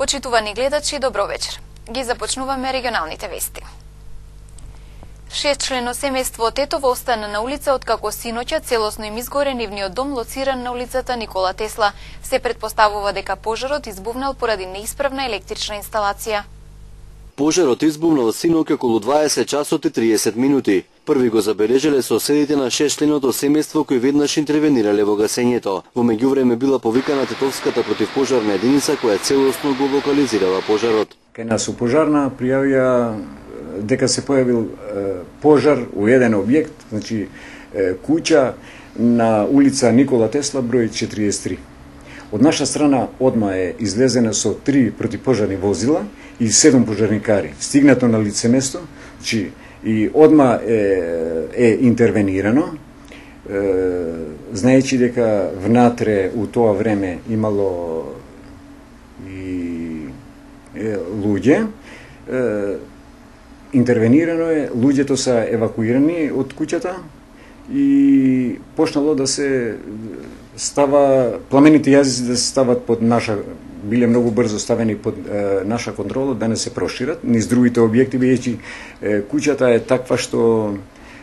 Почитувани гледачи, добро вечер. Ги започнуваме регионалните вести. 6-члено семејство Тетово остана на улица откако синоќа целосно им изгоре нивниот дом лоциран на улицата Никола Тесла. Се претпоставува дека пожарот избувнал поради неисправна електрична инсталација. Пожарот избувнал синоќа околу 20 часот и 30 минути. Први го забележале соседите на 6-членото семејство кои веднаш интервенирале во гасењето. Во меѓувреме била повикана Тетовската противпожарна единица која целосно го локализирала пожарот. Кај нас у пожарна пријавија дека се појавил пожар у еден објект, значи куќа на улица Никола Тесла број 43. Од наша страна одма е излезена со 3 противпожарни возила и 7 пожарникари. Стигнато на лице место, значи и одма е интервенирано, знаејќи дека внатре у тоа време имало и луѓе, интервенирано е, луѓето се евакуирани од куќата и почнало да се става, пламените јазици да се стават под наша, биле многу брзо ставени под наша контрола, да не се прошират низ другите објекти, бидејќи куќата е таква што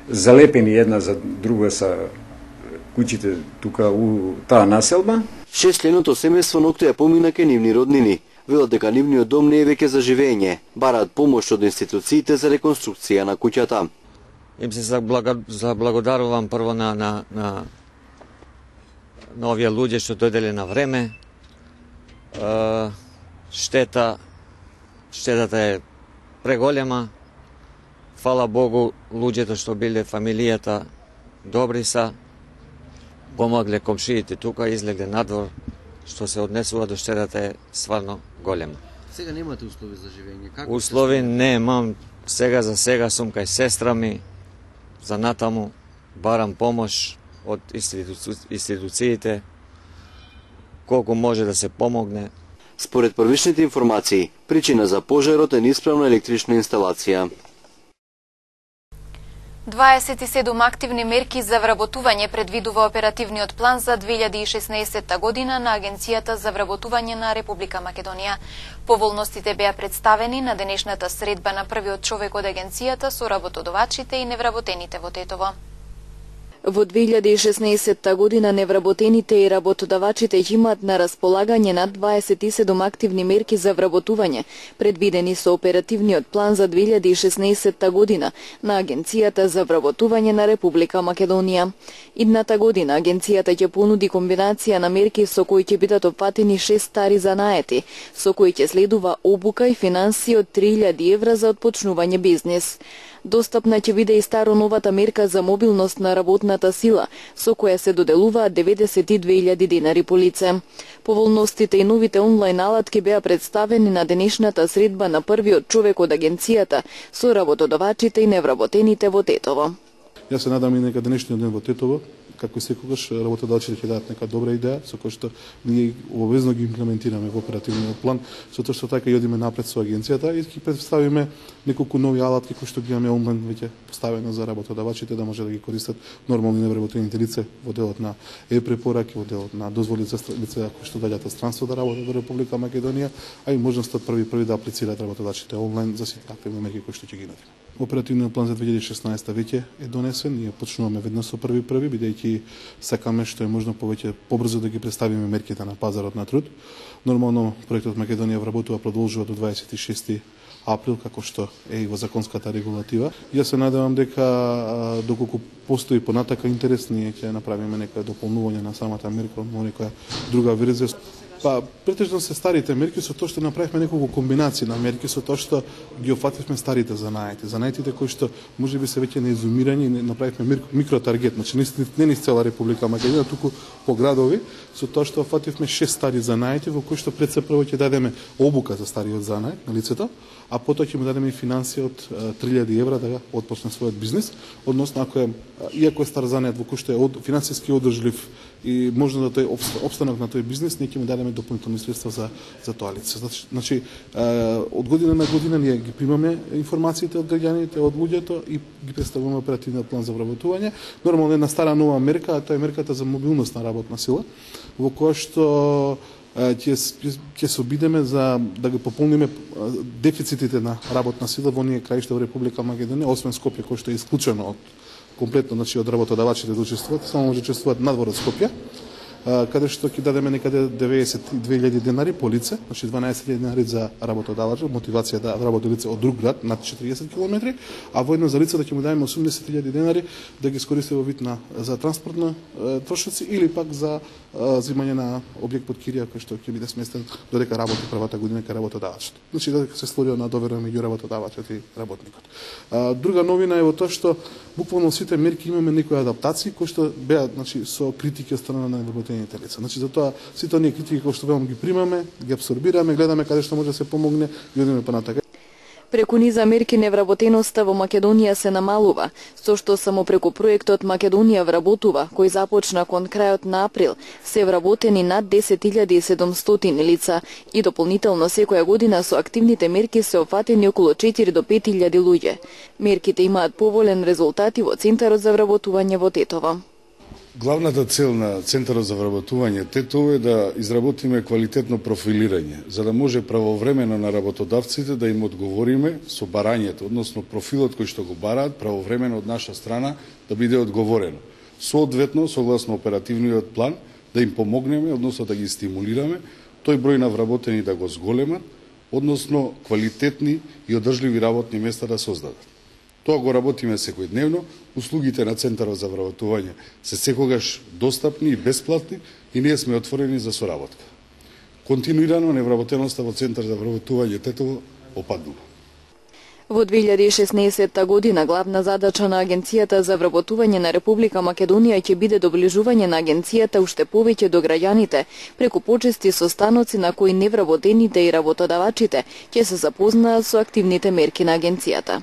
залепени една за друга са куќите тука у таа населба. 6-членото семејство ноќта ја помина ке нивни роднини. Велат дека нивниот дом не е веќе за живење. Бараат помош од институциите за реконструкција на куќата. Им се заблагодарувам прво на овие луѓе што дојделе на време. Штетата е преголема. Фала Богу, луѓето што биле фамилијата добри са. Помогле комшиите тука, излегле надвор. Што се однесува до штетата е стварно голема. Сега немате услови за живење? Како услови немам. Сега за сега сум кај сестра ми. За натаму барам помош од институциите. Колку може да се помогне. Според првичните информации, причина за пожарот е неисправна електрична инсталација. 27 активни мерки за вработување предвидува оперативниот план за 2016 година на Агенцијата за вработување на Република Македонија. Поволностите беа представени на денешната средба на првиот човек од агенцијата со работодавачите и невработените во Тетово. Во 2016 година невработените и работодавачите имаат на располагање над 27 активни мерки за вработување, предвидени со оперативниот план за 2016 година на Агенцијата за вработување на Република Македонија. Идната година агенцијата ќе понуди комбинација на мерки со кои ќе бидат опфатени 6 стари занаети, со кои ќе следува обука и финансии од 3000 евра за отпочнување бизнис. Достапна ќе биде и старо-новата мерка за мобилност на работната сила, со која се доделуваат 92.000 динари по лице. Поволностите и новите онлайн алатки беа представени на денешната средба на првиот човек од агенцијата со работодавачите и невработените во Тетово. Јас се надам и нека денешниот ден во Тетово, како и секогаш, работодавачите ќе дадат нека добра идеја, со која што ние обвезно ги имплементираме во оперативниот план, со тоа што така и одиме напред со агенцијата и ќе представиме неколку нови алатки кои што ги имаме онлайн веќе поставено за работодавачите да може да ги користат нормални невработените лица во делот на препораки, во делот на дозволи за лица кои што доаѓаат од странство да работат во Република Македонија, а и можноста први да аплицираат работодавачите онлайн за сите активни мерки кои што ќе ги нудиме. Оперативниот план за 2016 веќе е донесен, ние почнуваме веднаш со први, бидејќи сакаме што е можно повеќе побрзо да ги представиме мерките на пазарот на труд. Нормално проектот Македонија вработува продолжува до 26 април, како што е и во законската регулатива. Јас се надевам дека доколку постои понатака интерес, ние ќе направиме некоја дополнување на самата мерка, некоја друга верзија. Претежно се старите мерки со тоа што направивме неколку комбинации на мерки со тоа што ги офативме старите занаети. Занаетите кои што можеби се веќе неизумирани, направивме микротаргет, значи не низ цела Република Македонија, туку по градови, со тоа што офативме 6 стари занаети во кои што пред се прво ќе дадеме обука за стариот занает на лицето, а потоа ќе му дадеме и финансија од 3000 евра да отпочне својот бизнис, односно ако е иако е стар занает во кој што е финансиски одржлив и можно да тој опстанок на тој бизнес, ние ќе му дадеме дополнителни средства за тоа лице. Значи, од година на година ние ги примаме информациите од граѓаните, од луѓето и ги представуваме оперативниот план за вработување. Нормално една стара нова мерка, а тоа е мерката за мобилност на работна сила, во која што ќе се обидеме за да ги пополниме дефицитите на работна сила во оние краишта во Република Македонија, освен Скопје кој што е исклучено од комплетно, значи од работодавачите да учествуваат, само може учествуваат надвор од Скопје, каде што ќе дадеме некаде 92.000 денари по лице, значи 12.000 денари за работодавач, мотивација да работи лице од друг град над 40 км, а воедно за лице да ќе му дадеме 80.000 денари да ги искористи во вид на за транспортни трошоци или пак за земање на објект под кирија кој што ќе биде сместен додека работи првата година кај работодавачот. Значи додека се створија на доверба меѓу работодавачот и работникот. Друга новина е во тоа што буквално сите мерки имаме некои адаптации кои што беа, значи, со критики од страна на невработените лица. Значи затоа сите оние критики кои што велам ги примаме, ги абсорбираме, гледаме каде што може да се помогне и одиме понатака. Преку низа мерки невработеноста во Македонија се намалува, со што само преку проектот Македонија вработува, кој започна кон крајот на април, се вработени над 10.700 лица и дополнително секоја година со активните мерки се опфатени околу 4 до 5.000 луѓе. Мерките имаат поволен резултати во Центарот за вработување во Тетово. Главната цел на Центарот за вработување Тетово е да изработиме квалитетно профилирање, за да може правовремено на работодавците да им одговориме со барањето, односно профилот кој што го бараат правовремено од наша страна да биде одговорено. Соодветно, согласно оперативниот план, да им помогнеме, односно да ги стимулираме, тој број на вработени да го зголемат, односно квалитетни и одржливи работни места да создадат. Тоа го работиме секојдневно, услугите на Центарот за вработување се секогаш достапни и бесплатни и ние сме отворени за соработка. Континуирано невработеноста во Центар за вработување Тетово опаднува. Во 2016 година главна задача на Агенцијата за вработување на Република Македонија ќе биде доближување на агенцијата уште повеќе до граѓаните, преку почести состаноци на кои невработените и работодавачите ќе се запознаат со активните мерки на агенцијата.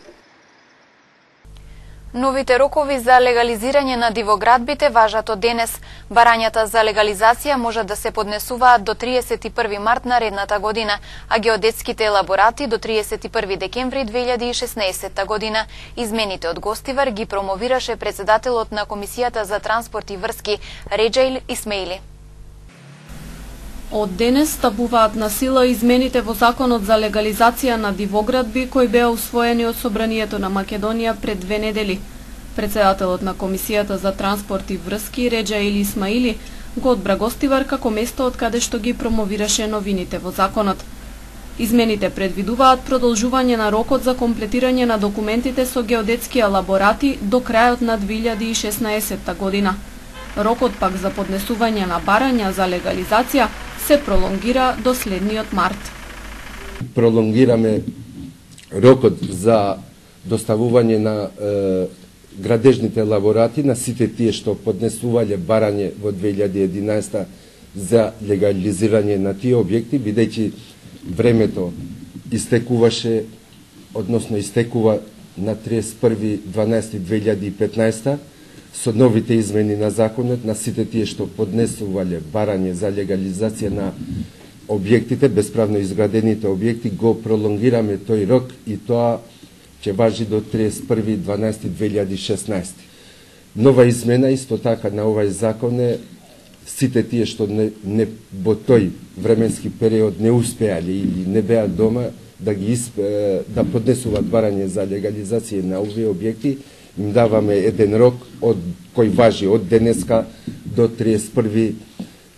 Новите рокови за легализирање на дивоградбите важат од денес. Барањата за легализација може да се поднесуваат до 31 март наредната година, а геодетските елаборати до 31 декември 2016 година. Измените од гостивар ги промовираше председателот на Комисијата за транспорт и врски Реджаил Исмеили. Од денес стапуваат на сила измените во Законот за легализација на дивоградби кои беа усвоени од Собранието на Македонија пред 2 недели. Председателот на Комисијата за транспорт и врски Реджаил Исмаили го одбра Гостивар како место од каде што ги промовираше новините во законот. Измените предвидуваат продолжување на рокот за комплетирање на документите со геодетски елаборати до крајот на 2016 година. Рокот пак за поднесување на барања за легализација се пролонгира до следниот март. Пролонгираме рокот за доставување на градежните елаборати на сите тие што поднесувале барање во 2011 за легализирање на тие објекти, бидејќи времето истекуваше, односно истекува на 31.12.2015 со новите измени на законот на сите тие што поднесувале барање за легализација на објектите, бесправно изградените објекти, го пролонгираме тој рок и тоа ќе важи до 31.12.2016. Нова измена исто така на овај закон е сите тие што не во тој временски период не успеале или не беа дома да поднесуваат барање за легализација на овие објекти, им даваме еден рок кој важи од денеска до 31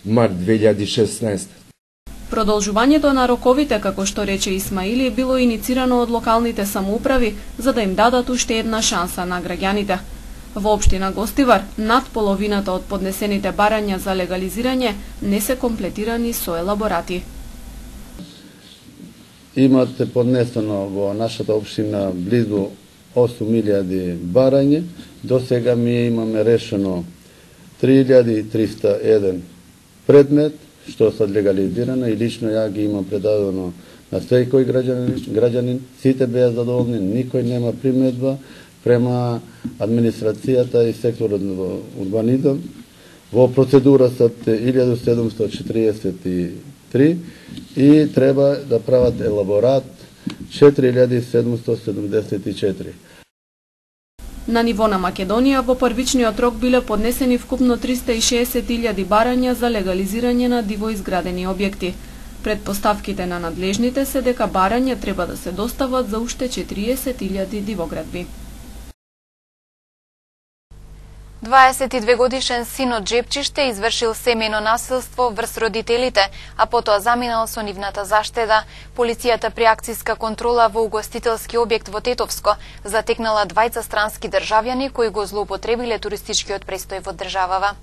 март 2016. Продолжувањето на роковите, како што рече Исмаили, било иницирано од локалните самоуправи за да им дадат уште една шанса на граѓаните. Во општина Гостивар, над половината од поднесените барања за легализирање не се комплетирани со елаборати. Имате поднесено во нашата општина близу 8.000 барање. До сега ми имаме решено 3.301 предмет, што се легализирано и лично ја ги имам предадено на секој граѓанин. Сите беа задоволни, никој нема примедба према администрацијата и секторот во урбанизам. Во процедура се 1743 и треба да прават елаборат 4774. На ниво на Македонија во првичниот рок биле поднесени вкупно 360.000 барања за легализирање на диво изградени објекти. Предпоставките на надлежните се дека барања треба да се достават за уште 40.000 дивоградби. 22-годишен син од Джепчиште извршил семејно насилство врз родителите, а потоа заминал со нивната заштеда. Полицијата при акцијска контрола во угостителски објект во Тетовско затекнала двајца странски државјани кои го злоупотребиле туристичкиот престој во државава.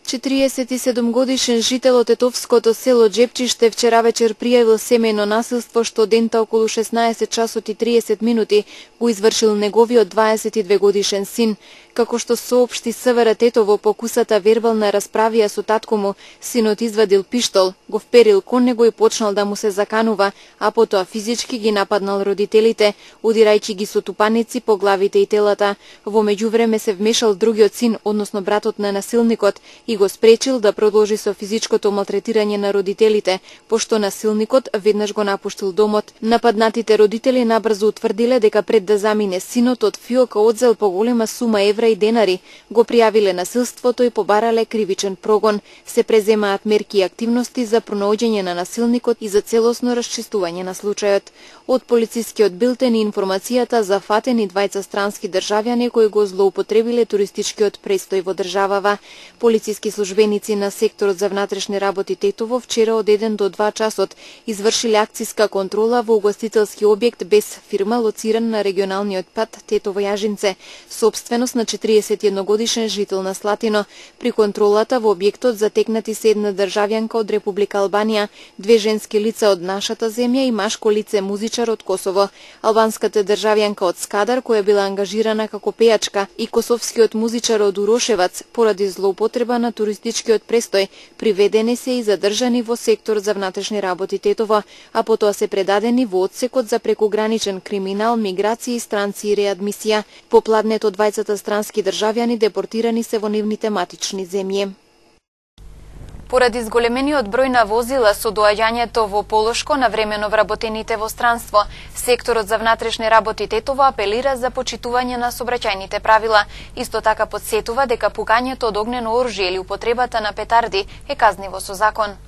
47 годишен жител од Тетовското село Джепчиште вчера вечер пријавил семејно насилство што дента околу 16 часот и 30 минути го извршил неговиот 22 годишен син. Како што соопшти СВР Тетово по кусата вербална расправија со татко му, синот извадил пиштол, го вперил кон него и почнал да му се заканува, а потоа физички ги нападнал родителите, удирајќи ги со тупаници по главите и телата. Во меѓувреме се вмешал другиот син, односно братот на насилникот, и го спречил да продолжи со физичкото малтретирање на родителите, пошто насилникот веднаш го напуштил домот. Нападнатите родители набрзо утврдиле дека пред да замине синот од фиока одзел поголема сума евра и денари, го пријавиле насилството и побарале кривичен прогон. Се преземаат мерки и активности за пронаоѓање на насилникот и за целосно расчистување на случајот. Од полицискиот билтен и информацијата за фатени двајца странски државјани кои го злоупотребиле туристичкиот престој во државава. Полициски службеници на секторот за внатрешни работи Тетово вчера од 1 до 2 часот извршиле акцијска контрола во угостителски објект без фирма лоциран на регионалниот пат Тетово-Јажинце, собственост на 41 годишен жител на Слатино. При контролата во објектот затекнати се една државјанка од Република Албанија, две женски лица од нашата земја и машко лице музичар од Косово. Албанската државјанка од Скадар, која била ангажирана како пејачка, и косовскиот музичар од Урошевац поради злоупотреба на туристичкиот престој, приведени се и задржани во сектор за внатрешни работи Тетово, а потоа се предадени во одсекот за прекуграничен криминал, миграција, странци и реадмисија. По пладнето двајцата странски државјани депортирани се во нивните матични земји. Поради зголемениот број на возила со доаѓањето во Полошко на времено вработените во странство, секторот за внатрешни работи Тетово апелира за почитување на сообраќајните правила. Исто така подсетува дека пукањето од огнено оружје или употребата на петарди е казниво со закон.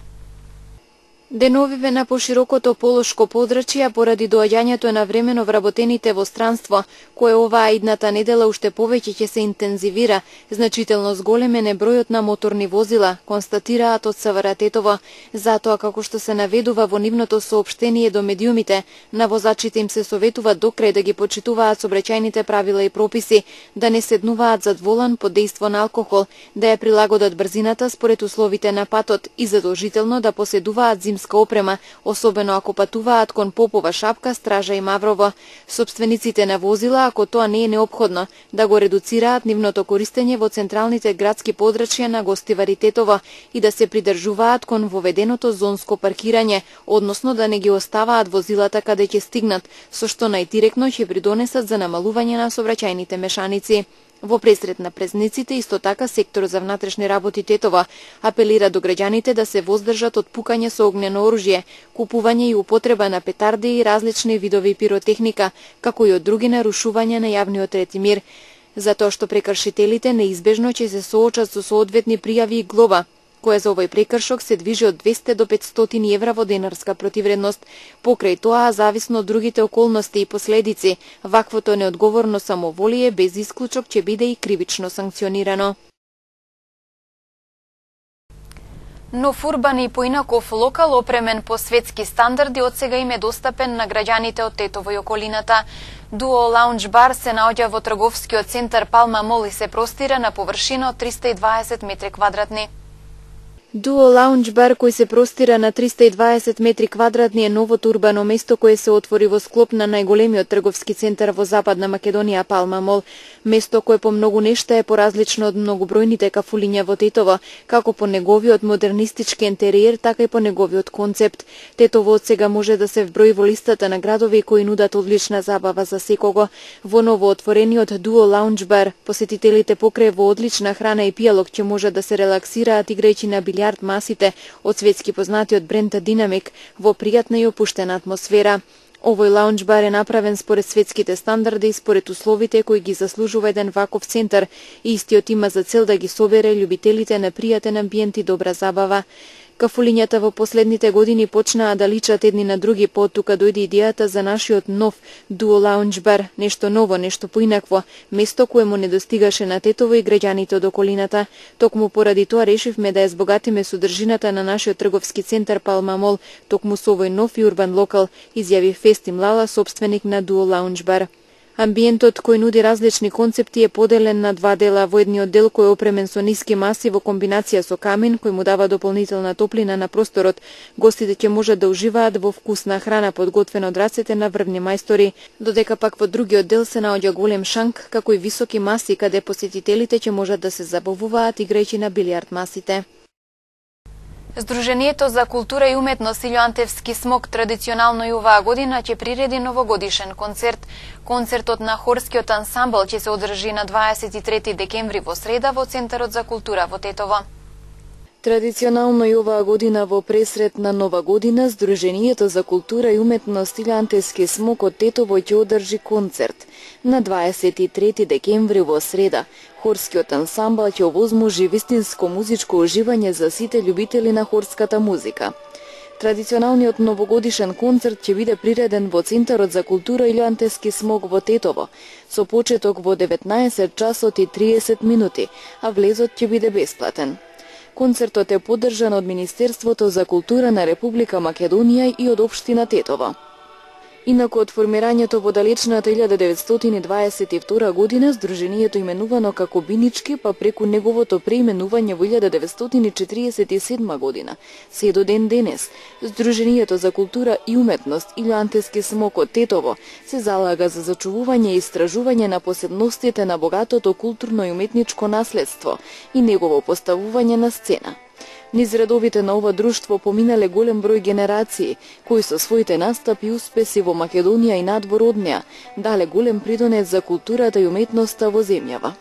Деновиве на поширокото полошко подрачје поради доаѓањето на времено вработените во странство, кое оваа идната недела уште повеќе ќе се интензивира, значително зголемен е бројот на моторни возила, констатираат од СВР Тетово. Затоа, како што се наведува во нивното соопштение до медиумите, на возачите им се советува до крај да ги почитуваат сообраќајните правила и прописи, да не седнуваат зад волан под дејство на алкохол, да ја прилагодат брзината според условите на патот и задолжително да поседуваат опрема, особено ако патуваат кон Попова Шапка, Стража и Маврово. Собствениците на возила, ако тоа не е неопходно, да го редуцираат нивното користење во централните градски подрачја на Гостивари Тетово и да се придржуваат кон воведеното зонско паркирање, односно да не ги оставаат возилата каде ќе стигнат, со што најдиректно ќе придонесат за намалување на сообраќајните мешаници. Во пресрет на празниците, исто така, сектор за внатрешни работи Тетово апелира до граѓаните да се воздржат од пукање со огнено оружје, купување и употреба на петарди и различни видови пиротехника, како и од други нарушувања на јавниот ред и мир, затоа што прекршителите неизбежно ќе се соочат со соодветни пријави и глоба, која за овој прекршок се движи од 200 до 500 евра во денарска противредност. Покрај тоа, зависно од другите околности и последици, ваквото неодговорно самоволие без исклучок ќе биде и кривично санкционирано. Нов урбан и поинаков локал опремен по светски стандарди од сега им е достапен на граѓаните од Тетово и околината. Дуо Лаунж бар се наоѓа во трговскиот центар Палма Мол и се простира на површина од 320 метри квадратни. Дуо Лаунж бар, кој се простира на 320 метри квадратни, е новото урбано место кое се отвори во склоп на најголемиот трговски центар во Западна Македонија, Палма Мол. Место кое по многу нешта е поразлично од многобројните кафулиња во Тетово, како по неговиот модернистички интериер, така и по неговиот концепт. Тетово од сега може да се вброи во листата на градови кои нудат одлична забава за секого. Во новоотворениот Дуо Лаунж бар, посетителите покрај во одлична храна и пијалок ќе можат да се релаксираат играјќи на билјард масите од светски познатиот бренд Динамик во пријатна и опуштена атмосфера. Овој лаунџ бар е направен според светските стандарди и според условите кои ги заслужува еден ваков центар и истиот има за цел да ги собере љубителите на пријатен амбиент и добра забава. Кафулињата во последните години почнаа да личат едни на други, тука дојде идејата за нашиот нов дуо лаунџ бар, нешто ново, нешто поинакво, место кое му не достигаше на Тетово и граѓаните од околината. Токму поради тоа решивме да ја збогатиме содржината на нашиот трговски центар Палма Мол, токму со овој нов и урбан локал, изјави Фестим Лала, собственик на дуо лаунџ бар. Амбиентот кој нуди различни концепти е поделен на два дела. Во едниот дел кој е опремен со ниски маси во комбинација со камен, кој му дава дополнителна топлина на просторот, гостите ќе можат да уживаат во вкусна храна подготвена од рацете на врвни мајстори, додека пак во другиот дел се наоѓа голем шанк, како и високи маси каде посетителите ќе можат да се забавуваат играјќи на билијард масите. Сдруженијето за култура и уметност Илјоантевски смок традиционално и оваа година ќе приреди новогодишен концерт. Концертот на хорскиот ансамбл ќе се одржи на 23 декември во среда во Центарот за култура во Тетово. Традиционално и оваа година во пресрет на Нова година, Сдруженијето за култура и уметност Илјоантевски смок од Тетово ќе одржи концерт. На 23 декември во среда, хорскиот ансамбл ќе овозможи вистинско музичко уживање за сите љубители на хорската музика. Традиционалниот новогодишен концерт ќе биде приреден во Центарот за култура Илјоантевски смок во Тетово, со почеток во 19 часот и 30 минути, а влезот ќе биде бесплатен. Концертот е поддржан од Министерството за култура на Република Македонија и од општина Тетово. Инаку од формирањето во далечната 1922 година, Сдруженијето именувано како Бинички, па преку неговото преименување во 1947 година, се до ден денес, Сдруженијето за култура и уметност Илјоантевски смок од Тетово се залага за зачувување и истражување на посебностите на богатото културно и уметничко наследство и негово поставување на сцена. Низ редовите на ова друштво поминале голем број генерации, кои со своите настапи и успеси во Македонија и надвор од неа, дале голем придонес за културата и уметноста во земјава.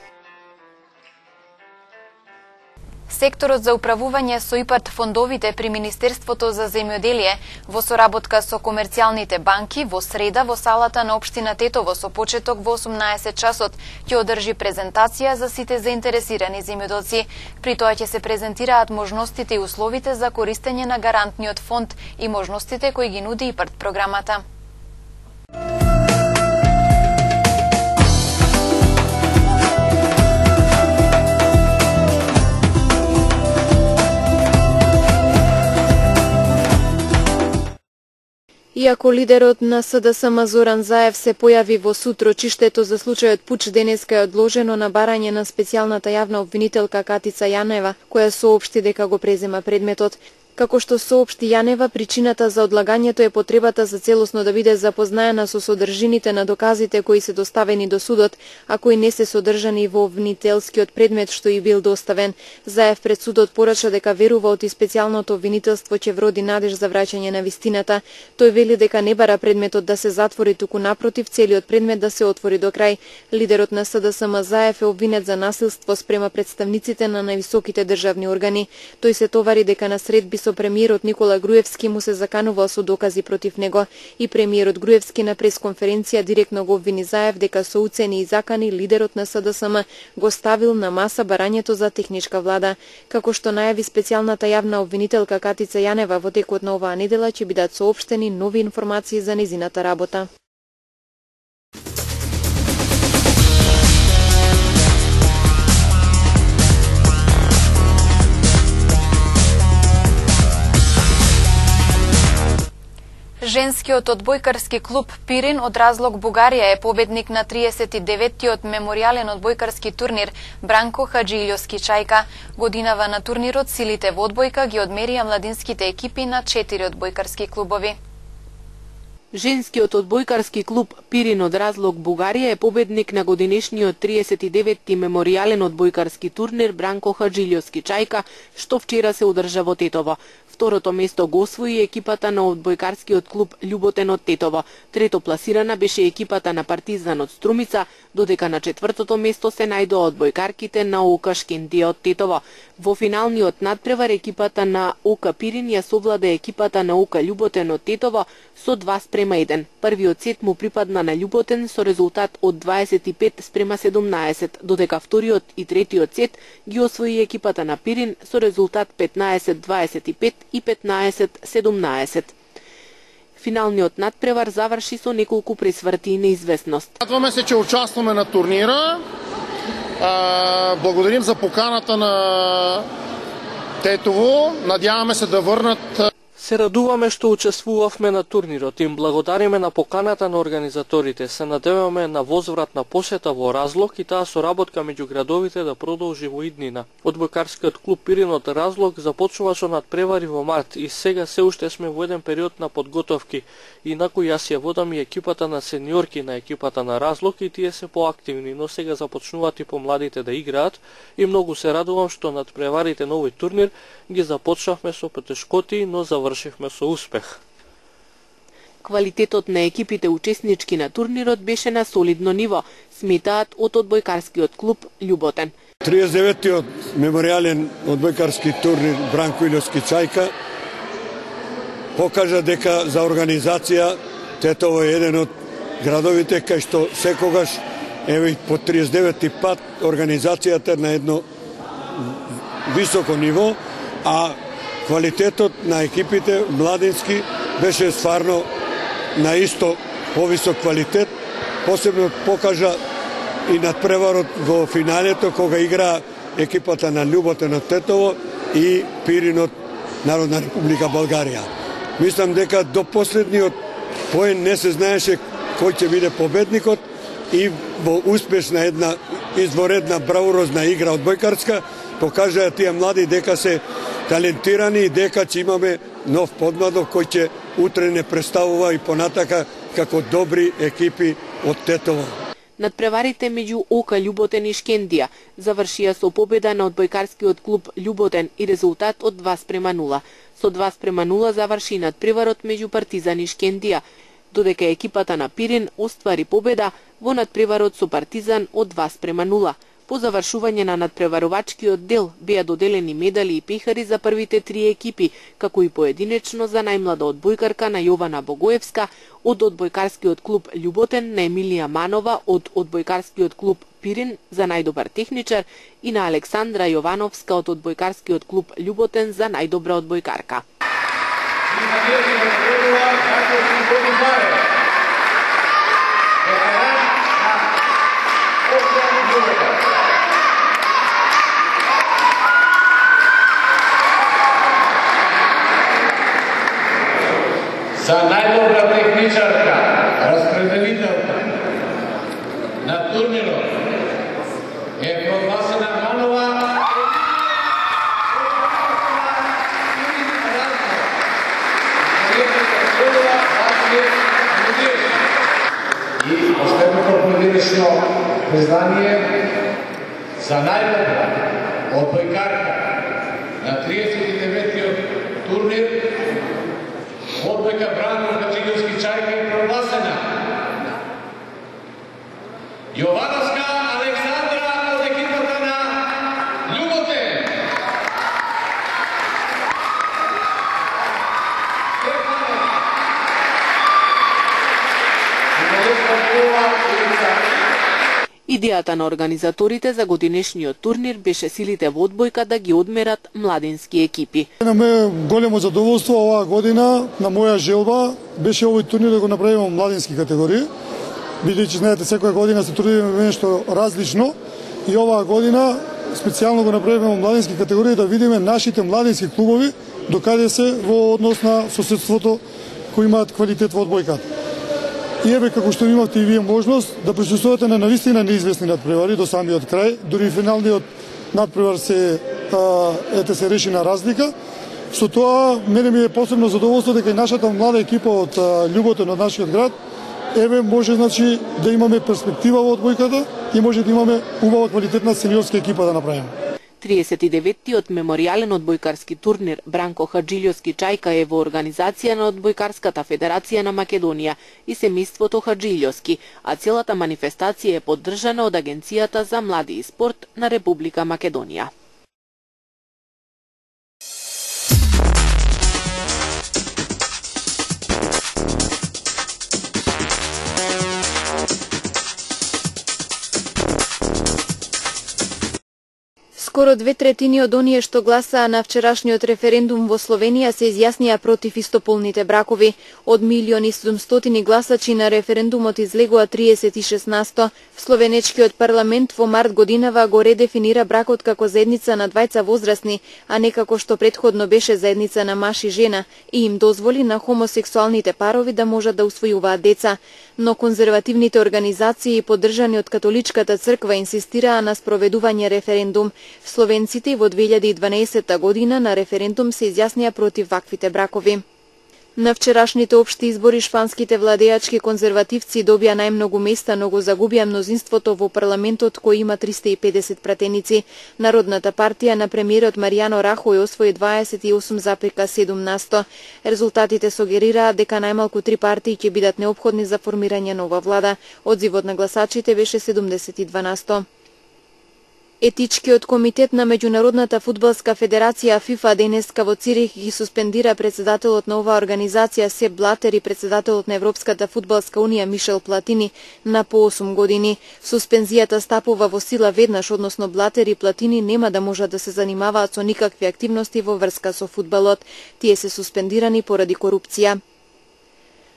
Секторот за управување со ИПАРД фондовите при Министерството за земјоделие во соработка со комерцијалните банки во среда во салата на општина Тетово со почеток во 18 часот ќе одржи презентација за сите заинтересирани земјоделци. При тоа ќе се презентираат можностите и условите за користење на гарантниот фонд и можностите кои ги нуди ИПАРД програмата. Иако лидерот на СДСМ Зоран Заев се појави во сутрочиштето за случајот пуч, денеска е одложено на барање на специјалната јавна обвинителка Катица Јанева, која соопшти дека го презема предметот. Како што соопшти Јанева, причината за одлагањето е потребата за целосно да биде запознаена со содржините на доказите кои се доставени до судот, а кои не се содржани во обвинителскиот предмет што и бил доставен. Заев пред судот порача дека верува оти специјалното обвинителство ќе вроди надеж за враќање на вистината. Тој вели дека не бара предметот да се затвори, туку напротив целиот предмет да се отвори до крај. Лидерот на СДСМ Заев е обвинет за насилство спрема представниците на највисоките државни органи. Тој се товари дека на средби со премиерот Никола Груевски му се заканувал со докази против него и премиерот Груевски на пресконференција директно го обвини Заев дека со уцени и закани лидерот на СДСМ го ставил на маса барањето за техничка влада. Како што најави специјалната јавна обвинителка Катица Јанева, во текот на оваа недела ќе бидат соопштени нови информации за незината работа. Женскиот одбојкарски клуб Пирин од Разлог Бугарија е победник на 39-тиот меморијален одбојкарски турнир Бранко Хаџиљовски Чајка. Годинава на турнирот силите во одбојка ги одмерија младинските екипи на 4 одбојкарски клубови. Женскиот одбојкарски клуб Пирин од Разлог Бугарија е победник на годинешниот 39-ти меморијален одбојкарски турнир Бранко Хаџиљовски Чајка, што вчера се одржа во Тетово. Второто место го освои екипата на одбојкарскиот клуб Љуботен од Тетово. Трето пласирана беше екипата на Партизан од Струмица, додека на четвртото место се најдоа одбојкарките на ОК Шкендија од Тетово. Во финалниот надпревар екипата на ОК Пирин ја совлада екипата на ОК Љуботен од Тетово со 2:1. Првиот сет му припадна на Љуботен со резултат од 25:17, додека вториот и третиот сет ги освои екипата на Пирин со резултат 15:25 и 15:17. Финалниот надпревар заврши со неколку пресврти и неизвестност. Радваме се, че участваме на турнира. Благодарим за поканата на Тетово. Надяваме се да върнат. Се радуваме што учествувавме на турнирот. Им благодариме на поканата на организаторите. Се надеваме на возврат на посета во Разлог и таа соработка меѓу градовите да продолжи во иднина. Одбојкарскиот клуб Пирин од Разлог започнува со надпревари во март и сега се уште сме во еден период на подготовки. Инаку јас ја водам и екипата на сениорки на екипата на Разлог и тие се поактивни, но сега започнуваат и помладите да играат и многу се радувам што надпреварите на овој турнир ги започнавме со потешкоти, но завршивме со успех. Квалитетот на екипите учеснички на турнирот беше на солидно ниво, сметаат од одбојкарскиот клуб Љуботен. 39-тиот меморијален одбојкарски турнир Бранко Илјовски Чајка покажа дека за организација Тетово е еден од градовите кај што секогаш еве по 39-ти пат организацијата на едно високо ниво, а квалитетот на екипите младински беше стварно на исто повисок квалитет. Посебно покажа и надпреварот во финалето кога игра екипата на Љуботен од Тетово и Пирин од Народна република Българија. Мислам дека до последниот поен не се знаеше кој ќе биде победникот и во успешна една изворедна бравурозна игра одбојкарска покажаа тие млади дека се талентирани и дека ќе имаме нов подмладок кој ќе утре не представува и понатака како добри екипи од Тетово. Надпреварите меѓу ОК Љуботен и Шкендија завршија со победа на одбојкарскиот клуб Љуботен и резултат од 2:0. Со 2:0 заврши надпреварот меѓу Партизан и Шкендија, додека екипата на Пирин оствари победа во надпреварот со Партизан од 2:0. По завршување на надпреварувачкиот дел беа доделени медали и пехари за првите три екипи, како и поединечно за најмлада одбојкарка на Јована Богоевска од одбојкарскиот клуб Љуботен, на Емилија Манова од одбојкарскиот клуб Пирин за најдобар техничар и на Александра Јовановска од одбојкарскиот клуб Љуботен за најдобра одбојкарка. За најдобра техничарка, распределителка на турнирот е прогласена Манова и последното поединечно признание за најдобра одбојкарка на 39-тиот турнир одбојка Бранко Илјовски Чајка е прогласена. Јовановска Александра од екипата на Љуботен. Идејата на организаторите за годинешниот турнир беше силите во одбојка да ги одмерат младински екипи. На ме големо задоволство оваа година, на моја желба, беше овој турнир да го направиме во младински категории, бидејќи знаете секоја година се трудиме нешто различно и оваа година специјално го направиме во младински категории да видиме нашите младински клубови докаде се во однос на соседството кои имаат квалитет во одбојката. И еве како што имавте и вие можност да присуствувате на навистина неизвестни надпревари до самиот крај, дури финалниот надпревар се се реши на разлика. Со тоа мене ми е посебно задоволство дека и нашата млада екипа од Љуботен од нашиот град еве може значи да имаме перспектива во одбојката и може да имаме убава квалитетна сениорска екипа да направиме. 39-тиот меморијален одбојкарски турнир Бранко Хаджилјовски Чајка е во организација на Одбојкарската федерација на Македонија и семејството Хаджилјовски, а целата манифестација е поддржана од Агенцијата за млади и спорт на Република Македонија. Скоро 2/3 од оние што гласаа на вчерашниот референдум во Словенија се изјаснија против истополните бракови. Од 1.700.000 гласачи на референдумот излегува 36%. Словенечкиот парламент во март годинава го редефинира бракот како заедница на двајца возрастни, а не како што претходно беше заедница на маж и жена, и им дозволи на хомосексуалните парови да можат да усвојуваат деца. Но конзервативните организации поддржани од католичката црква инсистираа на спроведување референдум. Словенците во 2012 година на референдум се изјаснија против ваквите бракови. На вчерашните општи избори шпанските владеачки конзервативци добија најмногу места, но го загубија мнозинството во парламентот кој има 350 пратеници. Народната партија на премиерот Маријано Рахој освои 28,7%. Резултатите сугерираат дека најмалку 3 партии ќе бидат неопходни за формирање нова влада. Одзивот на гласачите беше 72%. Етичкиот комитет на Меѓународната фудбалска федерација ФИФА денеска во Цирих ги суспендира председателот на оваа организација Сеп Блатер и председателот на Европската фудбалска унија Мишел Платини на по 8 години. Суспензијата стапува во сила веднаш, односно Блатер и Платини нема да можат да се занимаваат со никакви активности во врска со фудбалот. Тие се суспендирани поради корупција.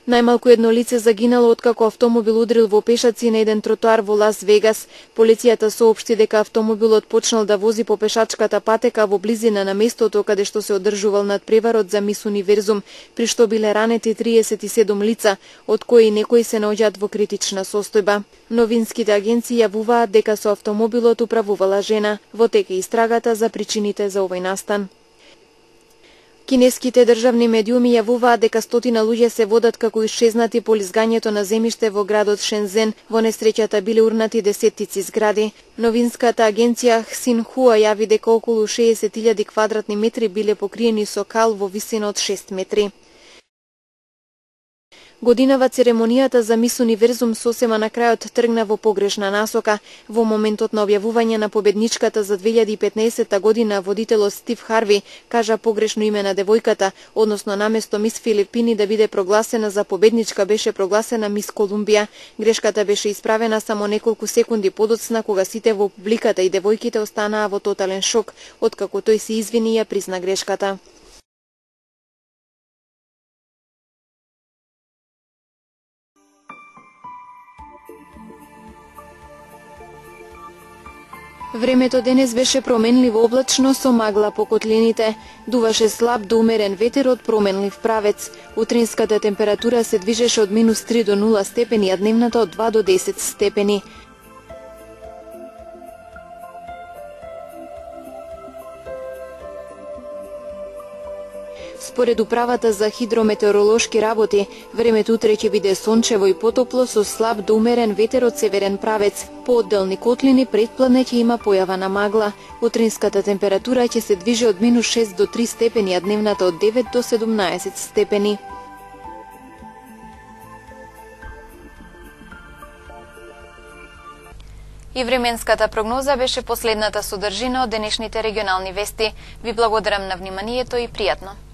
Најмалку едно лице загинало откако автомобил удрил во пешаци на еден тротоар во Лас Вегас. Полицијата соопшти дека автомобилот почнал да вози по пешачката патека во близина на местото каде што се одржувал надпреварот за Мис Универзум, при што биле ранети 37 лица, од кои некои се наоѓаат во критична состојба. Новинските агенции јавуваат дека со автомобилот управувала жена. Во тек е истрагата за причините за овој настан. Кинеските државни медиуми јавуваат дека стотина луѓе се водат како исчезнати по лизгањето на земјиште во градот Шензен. Во несреќата биле урнати десеттици згради. Новинската агенција Хсинхуа јави дека околу 60.000 квадратни метри биле покриени со кал во висина од 6 метри. Годинава церемонијата за Мис Универзум сосема на крајот тргна во погрешна насока. Во моментот на објавување на победничката за 2015 година водителот Стив Харви кажа погрешно име на девојката, односно наместо Мис Филипини да биде прогласена за победничка беше прогласена Мис Колумбија. Грешката беше исправена само неколку секунди подоцна кога сите во публиката и девојките останаа во тотален шок, откако тој се извини и ја призна грешката. Времето денес беше променливо облачно со магла по котлините. Дуваше слаб до умерен ветер од променлив правец. Утринската температура се движеше од -3 до 0 степени, а дневната од 2 до 10 степени. Според управата за хидрометеоролошки работи, времето утре ќе биде сончево и потопло со слаб до умерен ветер од северен правец. По одделни котлини предпладне ќе има појава на магла. Утринската температура ќе се движи од -6 до 3 степени, а дневната од 9 до 17 степени. И временската прогноза беше последната содржина од денешните регионални вести. Ви благодарам на вниманието и пријатно.